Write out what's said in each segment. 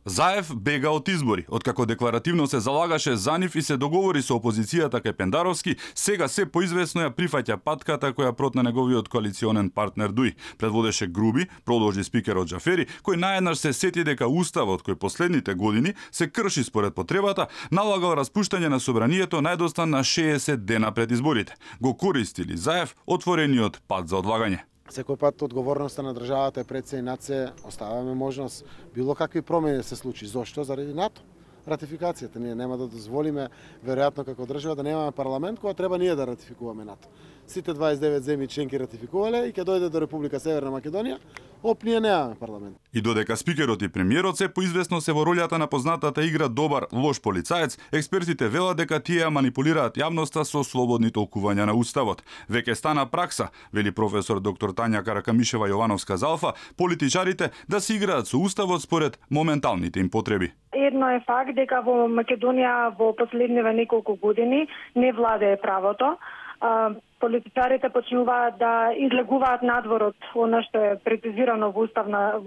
Заев бега од избори. Откако декларативно се залагаше за нив и се договори со опозицијата кај Пендаровски, сега се поизвестно ја прифаќа патката која протна неговиот коалиционен партнер Дуј. Предводеше Груби, продолжи спикерот Џафери, кој наеднаш се сети дека уставот кој последните години се крши според потребата, налагал распуштање на собранието најдостан на 60 дена пред изборите. Го користили Заев отворениот пат за одлагање. Секој пат одговорноста на државата е пред се и над се, оставаме можност било какви промени се случи. Зошто? Заради НАТО. Ратификацијата. Ние нема да дозволиме, веројатно како држава, да немаме парламент кога треба ние да ратификуваме НАТО. Сите 29 земји членки ратификувале и ќе дојде до Република Северна Македонија, ние немаме парламент. И додека спикерот и премиерот се поизвестно се во ролјата на познатата игра добар лош полицаец, експертите велат дека тие манипулираат јавноста со слободни толкувања на уставот. Веќе стана пракса, вели професор доктор Тања Каракамишева Јовановска-Залфа, политичарите да се играат со уставот според моменталните им потреби. Едно е факт дека во Македонија во последниве неколку години не владее правото. Политичарите почнуваат да излегуваат надвор од она што е прецизирано во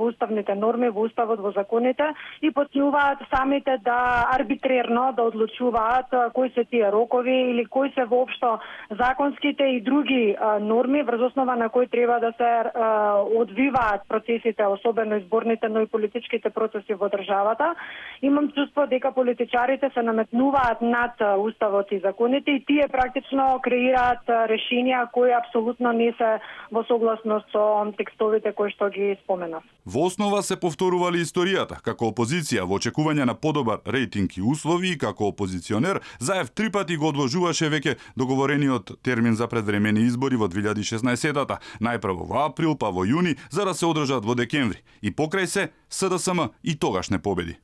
уставните норми, во уставот, во законите и почнуваат самите да арбитрерно да одлучуваат кои се тие рокови или кои се воопшто законските и други норми врз основа на кои треба да се одвиваат процесите, особено изборните, но и политичките процеси во државата. Имам чувство дека политичарите се наметнуваат над уставот и законите и тие практично креираат решенија кои апсолутно не се во согласност со текстовите кои што ги споменав. Во основа се повторували историјата, како опозиција во очекување на подобар рейтинг и услови и како опозиционер, Заев 3 пати го одложуваше веќе договорениот термин за предвремени избори во 2016-та, најпрво во април, па во јуни, за да се одржат во декември. И покрај се, СДСМ и тогаш не победи.